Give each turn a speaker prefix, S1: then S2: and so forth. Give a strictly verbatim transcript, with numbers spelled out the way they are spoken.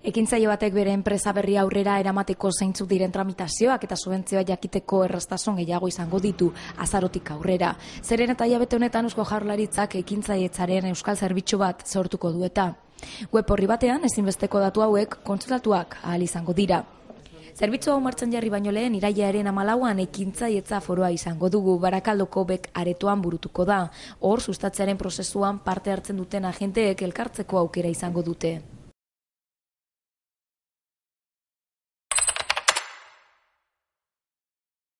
S1: Ekintzaile batek bere enpresa berri aurrera eramateko zeintzuk diren tramitazioak eta subentzioa jakiteko erraztasun gehiago izango ditu azarotik aurrera. Zeren eta hilabete honetan Eusko Jaurlaritzak ekintzailetzaren euskal zerbitzu bat sortuko du eta. Web orri batean ezinbesteko datu hauek kontsultatuak ahal izango dira. Zerbitzu hau martxan jarri baino lehen irailaren hamalauan ekintzailetza foroa izango dugu, Barakaldoko bek aretoan burutuko da. Hor sustatzearen prozesuan parte hartzen duten agenteek elkartzeko aukera izango dute.